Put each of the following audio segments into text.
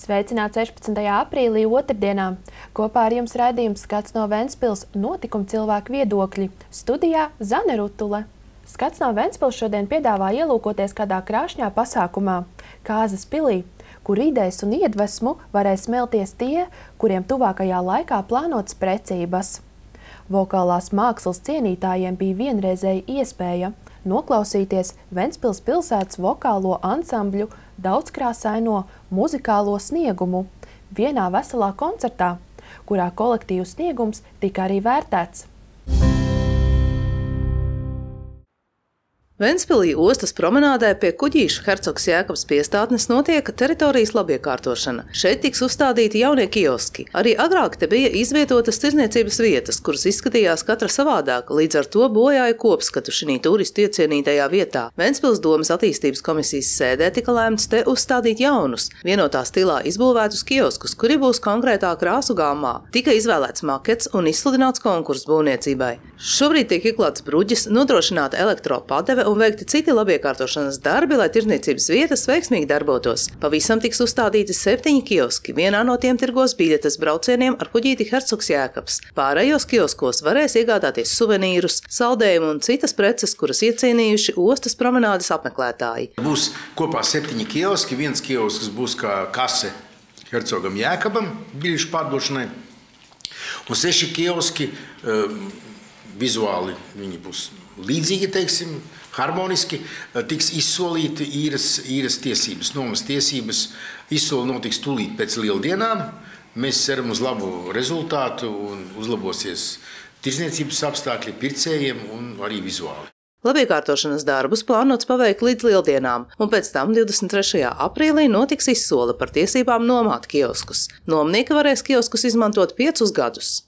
Sveicināts 16. aprīlī otrdienā. Kopā ar jums raidījums Skats no Ventspils notikuma cilvēku viedokļi. Studijā Zane Rutule. Skats no Ventspils šodien piedāvā ielūkoties kādā krāšņā pasākumā Kāzas pilī, kur idejas un iedvesmu varēs smelties tie, kuriem tuvākajā laikā plānotas precības. Vokālās mākslas cienītājiem bija vienreizēja iespēja noklausīties Ventspils pilsētas vokālo ansambļu daudzkrāsaino muzikālo sniegumu vienā veselā koncertā, kurā kolektīvu sniegums tika arī vērtēts. Ventspilī ostas promenādē pie Kuģīša Hercogs Jēkabs piestātnes notiek teritorijas labiekārtošana. Šeit tiks uzstādīti jaunie kioski. Arī agrāk te bija izvietotas tirdzniecības vietas, kuras izskatījās katra savādāk, līdz ar to bojāja kopskatu šī turistu iecienītajā vietā. Ventspils domas attīstības komisijas sēdē tika lēmts te uzstādīt jaunus, vienotā stilā izbūvētus kioskus, kuri būs konkrētā krāsu gāmā. Tika izvēlēts makets un izsludināts konkurss būvniecībai. Šobrīd tiek ieklāts bruģis, nodrošināta elektropadeve un veikti citi labiekārtošanas darbi, lai tirdzniecības vietas veiksmīgi darbotos. Pavisam tiks uzstādīti 7 kioski. Vienā no tiem tirgos biļetes braucieniem ar kuģīti Hercogs Jēkabs. Pārējos kioskos varēs iegādāties suvenīrus, saldējumu un citas preces, kuras iecienījuši ostas promenādes apmeklētāji. Būs kopā 7 kioski. Viens kiosks būs kā kase Hercogam Jēkabam biļešu pārdošanai. Un 6 kioski vizuāli viņi būs līdzīgi, teiksim, harmoniski, tiks izsolīti īres tiesības, nomas tiesības. Izsoli notiks tūlīt pēc lieldienām. Mēs ceram uz labu rezultātu un uzlabosies tirdzniecības apstākļi pircējiem un arī vizuāli. Labiekārtošanas darbus plānots paveikt līdz lieldienām, un pēc tam 23. aprīlī notiks izsole par tiesībām nomāt kioskus. Nomnieki varēs kioskus izmantot 5 gadus.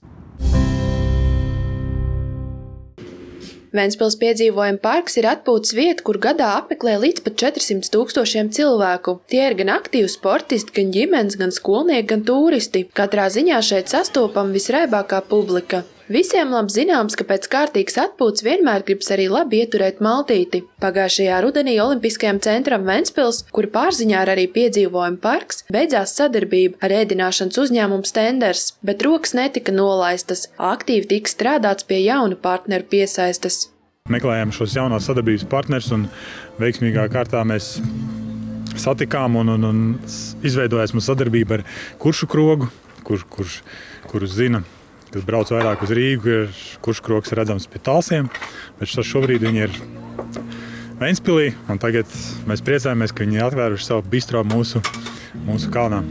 Ventspils piedzīvojuma parks ir atpūtas vieta, kur gadā apmeklē līdz pat 400 000 cilvēku. Tie ir gan aktīvi sportisti, gan ģimenes, gan skolnieki, gan turisti. Katrā ziņā šeit sastopama visraibākā publika. Visiem labi zināms, ka pēc kārtīgas atpūtas vienmēr gribas arī labi ieturēt maltīti. Pagājušajā rudenī Olimpiskajam centram Ventspils, kura pārziņā ir arī piedzīvojuma parks, beidzās sadarbība ar ēdināšanas uzņēmumu Stenders, bet rokas netika nolaistas. Aktīvi tika strādāts pie jaunu partneru piesaistes. Meklējām šos jaunās sadarbības partnerus un veiksmīgā kārtā mēs satikām un izveidojās mūsu sadarbība ar Kuršu krogu, kurus zina, kas brauc vairāk uz Rīgu, kurš krogs ir redzams pie Talsiem, bet šobrīd viņi ir Ventspilī, un tagad mēs priecājamies, ka viņi ir atvēruši savu bistro mūsu kalnā.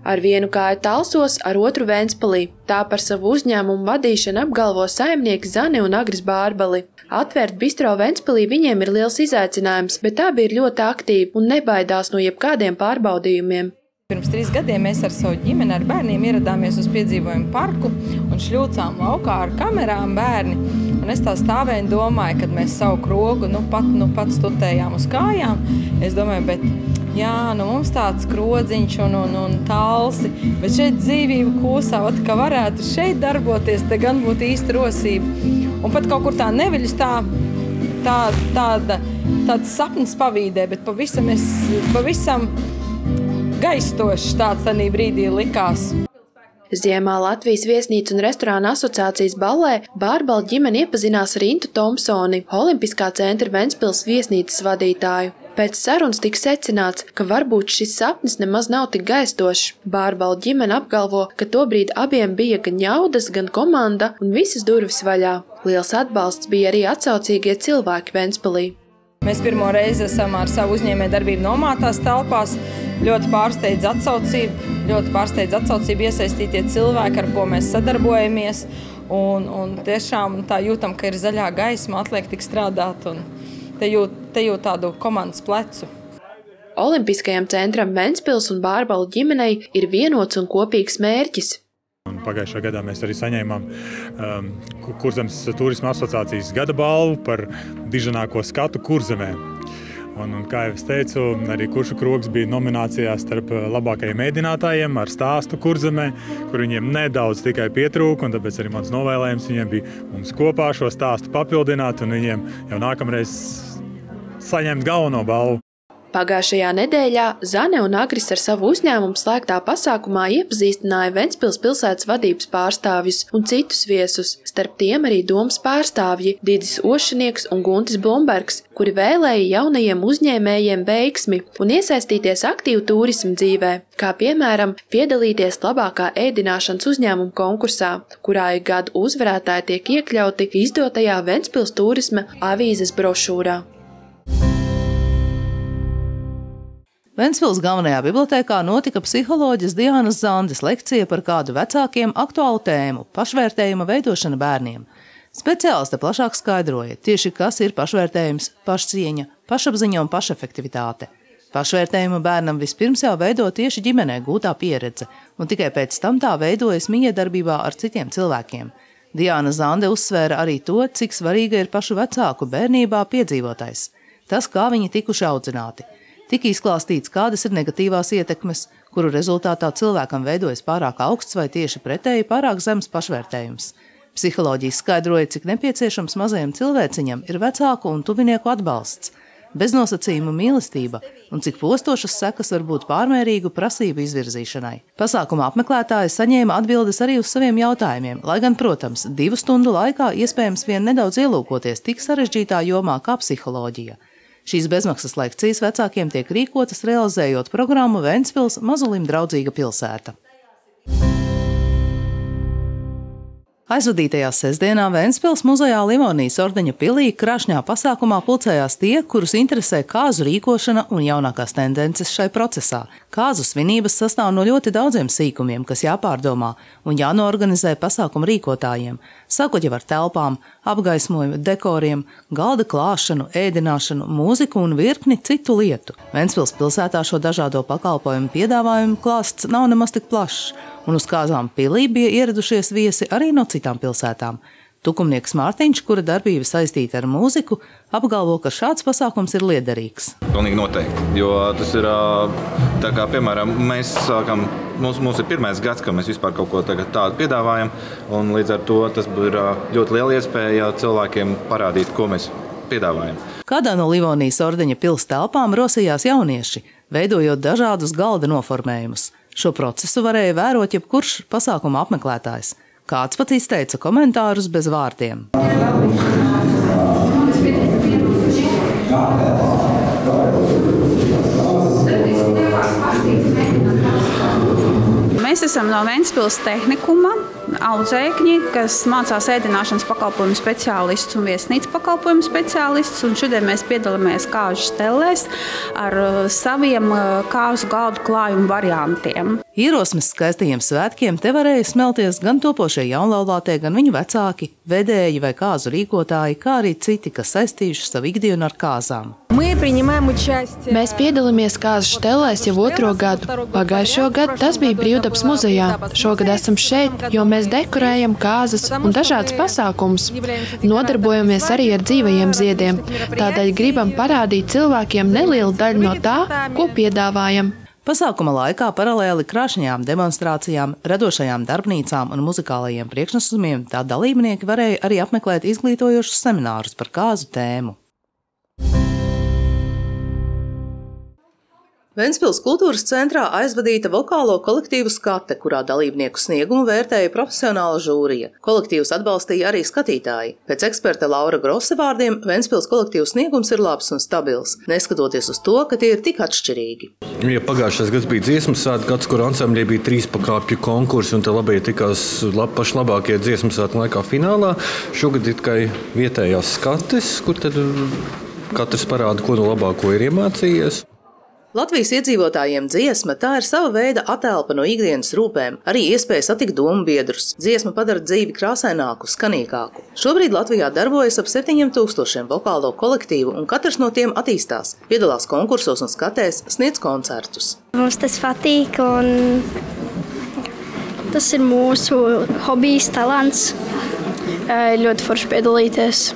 Ar vienu kāju Talsos, ar otru Ventspilī. Tā par savu uzņēmumu vadīšanu apgalvo saimnieki Zane un Agris Bārbali. Atvērt bistro Ventspilī viņiem ir liels izaicinājums, bet abi ir ļoti aktīvi un nebaidās no jebkādiem pārbaudījumiem. Pirms 3 gadiem mēs ar savu ģimeni, ar bērniem ieradāmies uz piedzīvojumu parku un šļūcām laukā ar kamerām bērni. Un es tā stāvēju un domāju, kad mēs savu krogu pat stutējām uz kājām. Es domāju, bet jā, mums tāds krodziņš un talsi, bet šeit dzīvība kūsā, ka varētu šeit darboties, te gan būtu īsta rosība. Un pat kaut kur tā neviļus tāds sapnis pavīdē, bet pavisam gaistošs tāds tanī brīdī likās. Ziemā Latvijas viesnīcu un restorāna asociācijas ballē Bārbala ģimene iepazinās ar Intu Tomsoni, Olimpiskā centra Ventspils viesnīcas vadītāju. Pēc sarunas tika secināts, ka varbūt šis sapnis nemaz nav tik gaistošs. Bārbala ģimene apgalvo, ka tobrīd abiem bija gan jaudas, gan komanda un visas durvis vaļā. Liels atbalsts bija arī atsaucīgie cilvēki Ventspilī. Mēs pirmo reizi esam ar savu uzņēmējdarbību nomātās telpās. Ļoti pārsteidz atsaucību iesaistītie cilvēki, ar ko mēs sadarbojamies. Un tiešām tā jūtam, ka ir zaļā gaisma, atliek tik strādāt un te jūt tādu komandas plecu. Olimpiskajam centram Ventspils un Bārbalu ģimenei ir vienots un kopīgs mērķis. Pagājušā gadā mēs arī saņēmām Kurzemes turisma asociācijas gada balvu par dižanāko skatu Kurzemē. Un, kā jau es teicu, arī Kuršu krogs bija nominācijā starp labākajiem ēdinātājiem ar stāstu Kurzemē, kur viņiem nedaudz tikai pietrūka, un tāpēc arī mans novēlējums viņiem bija mums kopā šo stāstu papildināt un viņiem jau nākamreiz saņemt galveno balvu. Pagājušajā nedēļā Zane un Agris ar savu uzņēmumu slēgtā pasākumā iepazīstināja Ventspils pilsētas vadības pārstāvjus un citus viesus, starp tiem arī domas pārstāvji Didis Ošanieks un Guntis Blumbergs, kuri vēlēja jaunajiem uzņēmējiem veiksmi un iesaistīties aktīvu turismu dzīvē, kā piemēram piedalīties labākā ēdināšanas uzņēmuma konkursā, kurā ik gadu uzvarētāji tiek iekļauti izdotajā Ventspils turisma avīzes brošūrā. Ventspils galvenajā bibliotēkā notika psiholoģes Diānas Zandes lekcija par kādu vecākiem aktuālu tēmu – pašvērtējuma veidošana bērniem. Speciāliste plašāk skaidroja, tieši kas ir pašvērtējums, pašcieņa, pašapziņa un pašefektivitāte. Pašvērtējumu bērnam vispirms jau veido tieši ģimenē gūtā pieredze, un tikai pēc tam tā veidojas mijiedarbībā ar citiem cilvēkiem. Diāna Zande uzsvēra arī to, cik svarīga ir pašu vecāku bērnībā piedzīvotais. Tas, kā viņi tikuši audzināti. Tika izklāstīts, kādas ir negatīvās ietekmes, kuru rezultātā cilvēkam veidojas pārāk augsts vai tieši pretēji pārāk zems pašvērtējums. Psiholoģija skaidroja, cik nepieciešams mazajam cilvēciņam ir vecāku un tuvinieku atbalsts, beznosacījumu mīlestība un cik postošas sekas var būt pārmērīgu prasību izvirzīšanai. Pasākuma apmeklētāji saņēma atbildes arī uz saviem jautājumiem, lai gan, protams, 2 stundu laikā iespējams vien nedaudz ielūkoties tik sarežģītā jomā kā psiholoģija. Šīs bezmaksas lekcijas vecākiem tiek rīkotas realizējot programmu Ventspils mazulim draudzīga pilsēta. Aizvadītajā sestdienā Ventspils muzejā Livonijas ordeņa pilī krāšņā pasākumā pulcējās tie, kurus interesē kāzu rīkošana un jaunākās tendences šai procesā. Kāzu svinības sastāv no ļoti daudziem sīkumiem, kas jāpārdomā un jānoorganizē pasākumu rīkotājiem, sākot jau ar telpām, apgaismojumu, dekoriem, galda klāšanu, ēdināšanu, mūziku un virkni citu lietu. Ventspils pilsētā šo dažādo pakalpojumu piedāvājumu klāsts nav nemaz tik plašs, un uz kāzām pilī bija ieradušies viesi arī no citām pilsētām. Tukumnieks Mārtiņš, kura darbība saistīta ar mūziku, apgalvo, ka šāds pasākums ir liederīgs. Pilnīgi noteikti, jo tas ir tā kā, piemēram, mēs sākam, mums ir pirmais gads, ka mēs vispār kaut ko tādu piedāvājam, un līdz ar to tas ir ļoti liela iespēja cilvēkiem parādīt, ko mēs piedāvājam. Kādā no Livonijas ordeņa pils telpām rosījās jaunieši, veidojot dažādus galda noformējumus. Šo procesu varēja vērot jebkurš pasākuma apmeklētājs. Kāds pat izteica komentārus bez vārdiem. Mēs esam no Ventspils tehnikuma audzēkņi, kas mācās ēdināšanas pakalpojumu speciālists un viesnīcu pakalpojumu speciālists. Un šodien mēs piedalāmies kāžu stellēs ar saviem kāzu galdu klājumu variantiem. Ierosmes skaistajiem svētkiem te varēja smelties gan topošie jaunlaulātie, gan viņu vecāki, vedēji vai kāzu rīkotāji, kā arī citi, kas saistījuši savu ikdienu ar kāzām. Mēs piedalāmies kāzu stellēs jau 2. gadu. Pagājušo gadu tas bija Brīvdabas muzejā. Šogad esam šeit, jo mēs dekorējam kāzas un dažādas pasākumus. Nodarbojamies arī ar dzīvajiem ziediem. Tādēļ gribam parādīt cilvēkiem nelielu daļu no tā, ko piedāvājam. Pasākuma laikā paralēli krāšņajām demonstrācijām, radošajām darbnīcām un muzikālajiem priekšnesumiem tā dalībnieki varēja arī apmeklēt izglītojošus seminārus par kāzu tēmu. Ventspils kultūras centrā aizvadīta vokālo kolektīvu Skate, kurā dalībnieku sniegumu vērtēja profesionāla žūrija. Kolektīvus atbalstīja arī skatītāji. Pēc eksperta Laura Grosse vārdiem, Ventspils kolektīvu sniegums ir labs un stabils, neskatoties uz to, ka tie ir tik atšķirīgi. Ja pagājušais gads bija dziesmu svētku gads, kur ansambļī bija 3 pakāpju konkursi, un te labai tikās paši labākie dziesmu svētku laikā finālā. Šogad ir tikai vietējās skates, kur tad katrs parāda, ko no labāko ir iemācījies. Latvijas iedzīvotājiem dziesma tā ir sava veida atelpa no ikdienas rūpēm, arī iespēja satikt domu biedrus. Dziesma padara dzīvi krāsaināku, skanīgāku. Šobrīd Latvijā darbojas ap 7000 vokālo kolektīvu, un katrs no tiem attīstās, piedalās konkursos un skatēs, sniedz koncertus. Mums tas patīk, un tas ir mūsu hobijs, talants. Ļoti forši piedalīties.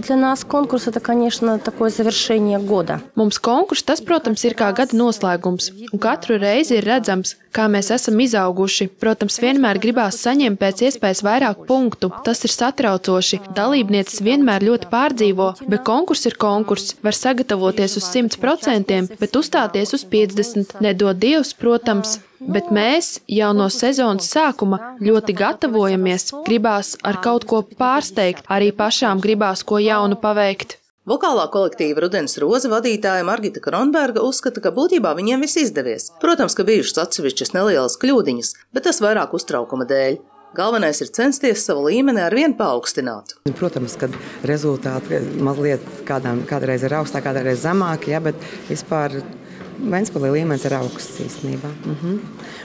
Для нас конкурс – это, конечно, такое завершение года. Mums konkurss tas, protams, ir kā gada noslēgums, un katru reizi ir redzams, kā mēs esam izauguši. Protams, vienmēr gribās saņemt pēc iespējas vairāk punktu. Tas ir satraucoši. Dalībnieces vienmēr ļoti pārdzīvo, bet konkurss ir konkurss. Var sagatavoties uz 100%, bet uzstāties uz 50%. Nedod Dievs, protams. Bet mēs jau no sezonas sākuma ļoti gatavojamies. Gribās ar kaut ko pārsteigt, arī pašām gribās ko jaunu paveikt. Vokālā kolektīva Rudens Roze vadītāja Margita Kronberga uzskata, ka būtībā viņiem viss izdevies. Protams, ka bijušas atsevišķas nelielas kļūdiņas, bet tas vairāk uztraukuma dēļ. Galvenais ir censties savu līmeni arvien paaugstināt. Protams, ka rezultāti mazliet kādreiz ir augstāk, kādreiz zemāk, ja, bet vispār Ventspilī līmenis ir augsts īstenībā.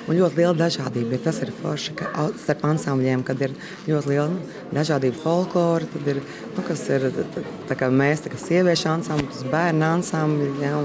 Un ļoti liela dažādība. Tas ir forši, ka starp ansambļiem, kad ir ļoti liela dažādība folklora, tad ir, kas ir tā kā mēs, tā kā sieviešu ansambļi, bērnu ansambļi, ja,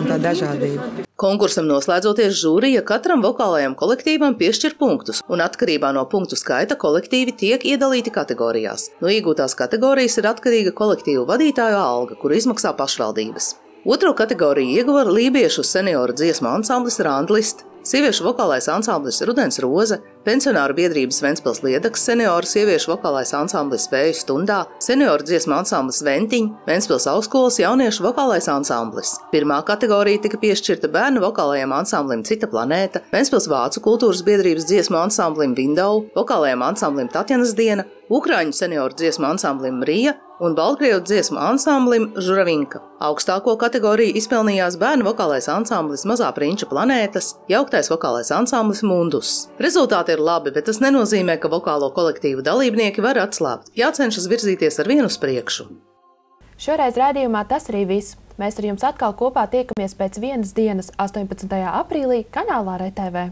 un tā dažādība. Konkursam noslēdzoties žūrija katram vokālajam kolektīvam piešķir punktus, un atkarībā no punktu skaita kolektīvi tiek iedalīti kategorijās. No iegūtās kategorijas ir atkarīga kolektīvu vadītāju alga, kuru izmaksā pašvaldības. Otro kategoriju ieguva lībiešu senioru dziesmu ansamblis Randlist, sieviešu vokālais ansamblis Rudens Roze, pensionāru biedrības Ventspils Liedaks senioru sieviešu vokālais ansamblis Vēju stundā, senioru dziesmu ansamblis Ventiņ, Ventspils augstskolas jauniešu vokālais ansamblis. Pirmā kategorija tika piešķirta bērnu vokālajam ansamblim Cita planēta, Ventspils vācu kultūras biedrības dziesmu ansamblim Window, vokālajam ansamblim Tatjanas diena, Ukraiņu senioru dziesmu ansamblim Mrija un Baltkrievu dziesmu ansamblim Žuravinka. Augstāko kategoriju izpelnījās bērnu vokālais ansamblis Mazā prinča planētas, jauktais vokālais ansamblis Mundus. Rezultāti ir labi, bet tas nenozīmē, ka vokālo kolektīvu dalībnieki var atslābt. Jācenšas virzīties ar vienu uz priekšu. Šoreiz raidījumā tas arī viss. Mēs ar jums atkal kopā tiekamies pēc vienas dienas 18. aprīlī kanālā RTV.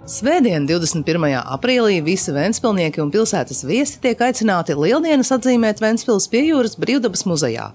Svētdien, 21. aprīlī, visi ventspilnieki un pilsētas viesi tiek aicināti Lieldienas atzīmēt Ventspils pie jūras Brīvdabas muzejā.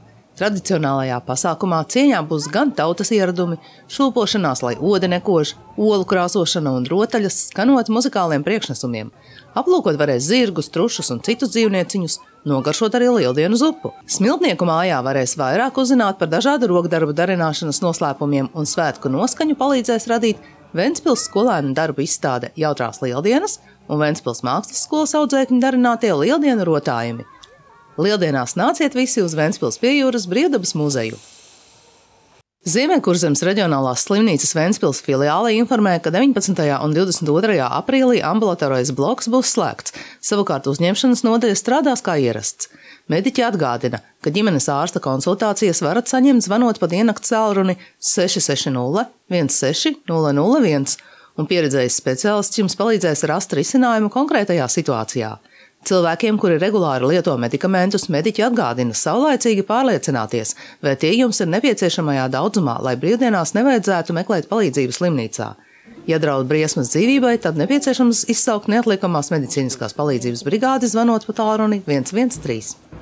Tradicionālajā pasākumā cieņā būs gan tautas ieradumi, šūpošanās, lai ode nekož, olu krāsošana un rotaļas, skanot muzikāliem priekšnesumiem. Aplūkot varēs zirgus, trušus un citus dzīvnieciņus, nogaršot arī Lieldienu zupu. Smiltnieku mājā varēs vairāk uzzināt par dažādu rokdarbu darināšanas noslēpumiem, un svētku noskaņu palīdzēs radīt Ventspils skolēnu darbu izstāde Jautrās Lieldienas un Ventspils mākslas skolas audzēkņu darinātie Lieldienu rotājumi. Lieldienās nāciet visi uz Ventspils pie jūras Brīvdabas muzeju. Ziemeļkurzemes reģionālās slimnīcas Ventspils filiāle informē, ka 19. un 22. aprīlī ambulatorais bloks būs slēgts, savukārt uzņemšanas nodaļa strādās kā ierasts. Mediķi atgādina, ka ģimenes ārsta konsultācijas varat saņemt zvanot pa diennakts cēlruni 660 16 001, un pieredzējis speciālists jums palīdzēs rast risinājumu konkrētajā situācijā. Cilvēkiem, kuri regulāri lieto medikamentus, mediķi atgādina saulaicīgi pārliecināties, vai tie jums ir nepieciešamajā daudzumā, lai brīvdienās nevajadzētu meklēt palīdzību slimnīcā. Ja draud briesmas dzīvībai, tad nepieciešams izsaukt neatliekamās medicīniskās palīdzības brigādi zvanot pa tālruni 113.